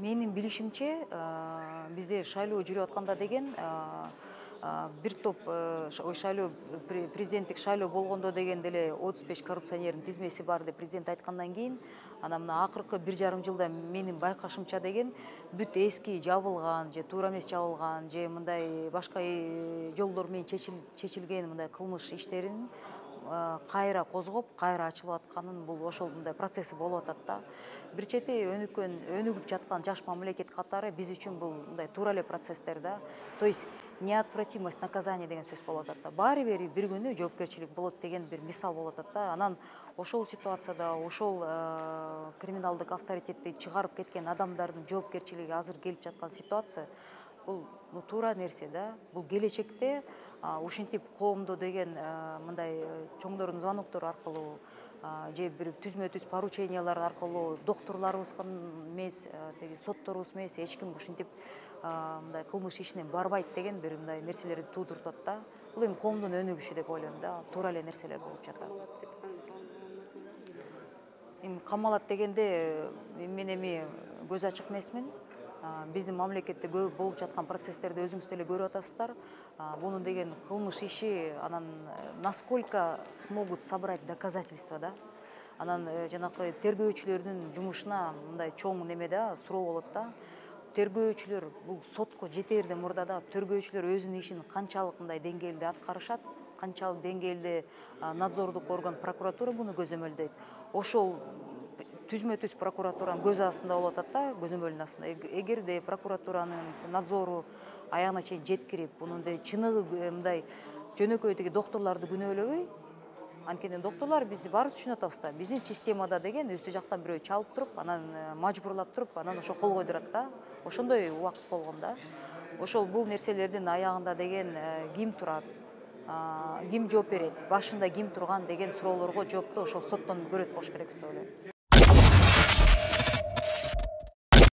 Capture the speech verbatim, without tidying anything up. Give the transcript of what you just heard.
Менин билишимче, бизде шайлоо жүрүп атканда деген бир топ шайлоо президенттик шайлоо болгондо деген деле отуз беш коррупционердин тизмеси бар деп президент айткандан кийин, анан мына акыркы бир жарым жылда менин байкашымча деген бүт эски жабылган же туура эмес жабылган же мындай башка жолдор менен чечилген мындай кылмыш иштерин кайра козгоп, кайра ачылып атканын, бул ошол мындай процесси болуп атат да. Бир чети өнүккөн, өнүгүп жаткан жаш мамлекет катары биз үчүн бул мындай туура эле процесстер да. То есть неотвратимость наказания деген сөз болуп атат да. Баары бир бир күнү жоопкерчилик болот деген бир мисал болуп атат да. Анан ошол ситуацияда ошол криминалдык авторитетти чыгарып кеткен адамдардын жоопкерчилиги азыр келип жаткан ситуация бул туура нерсе да. Бул келечекте ушинтип коомдо деген мындай чоңдордун звоноктору аркылуу же бир түзмө-түз поручениялар аркылуу доктурларыбыз эмес, тиги сотторубуз эмес, эч ким ушинтип мындай кылмыш ишине барбайт деген бир мындай нерселерди туудуруп атат да. Бул эми коомдун өнүгүшү деп ойлойм да. Туура эле нерселер болуп жатат. Эми камалат дегенде мен эми көз ачык эмесмин. Биздин мамлекетте көп болуп жаткан процесстерди өзүңүз деле көрүп атасыздар. Бунун деген кылмыш иши, анан насколько смогут собрать доказательства да. Анан жанакы тергөөчүлөрдүн жумушуна мындай чоң неме да, суроо болот да. Тергөөчүлөр бул сотко жетээрден мурда да тергөөчүлөр өзүнүн ишин канчалык мындай деңгээлде аткарышат, канчалык деңгээлде надзордук орган прокуратура буну көзөмөлдөйт. Ошол түзмө-түз прокуратуранын көз астында болуп атат да, көзөмөлүнүн астында. Эгерде прокуратуранын надзору аягына чейин жеткирип, бунун чыныгы мындай жөнөкөй тиги доктурларды күнөөлөбөй, анткени доктурлар биз баарыбыз түшүнүп атабыз да, биздин системада деген үстү жактан бирөө чалып туруп, анан мажбурлап туруп, анан ошо кол койдурат да. Ошондой убакыт болгон да. Ошол бул нерселердин аягында деген ким турат, ким жооп берет, башында ким турган деген суроолорго жоопту ошол соттон көрөт болуш керек деп ойлойм.